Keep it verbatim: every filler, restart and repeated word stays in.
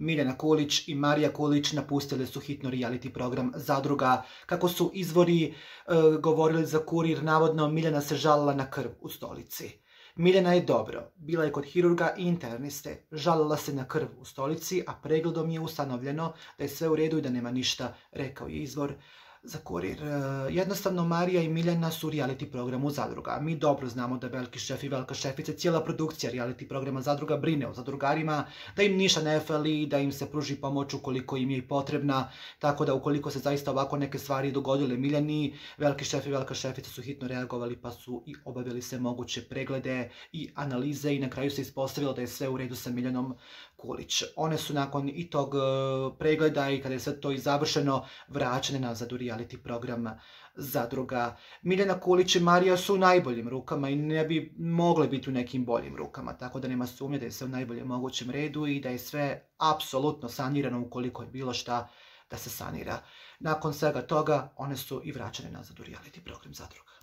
Miljana Kulić i Marija Kulić napustili su hitno reality program Zadruga. Kako su izvori e, govorili za Kurir, navodno Miljana se žalila na krv u stolici. Miljana je dobro, bila je kod hirurga i interniste, žalila se na krv u stolici, a pregledom je ustanovljeno da je sve u redu i da nema ništa, rekao je izvor za Kurir. Jednostavno, Marija i Miljana su u reality programu Zadruga. Mi dobro znamo da veliki šef i velika šefica, cijela produkcija reality programa Zadruga brine o zadrugarima, da im ništa ne fali, da im se pruži pomoć ukoliko im je i potrebna, tako da ukoliko se zaista ovako neke stvari dogodile Miljani, veliki šef i velika šefica su hitno reagovali pa su i obavili sve moguće preglede i analize i na kraju se ispostavilo da je sve u redu sa Miljanom Kulić. One su nakon i tog pregleda i kada je sve to i završeno vraćene nazad u reality program Zadruga. Miljana Kulić i Marija su u najboljim rukama i ne bi mogle biti u nekim boljim rukama, tako da nema sumnje da je sve u najboljem mogućem redu i da je sve apsolutno sanirano ukoliko je bilo šta da se sanira. Nakon svega toga one su i vraćene nazad u reality program Zadruga.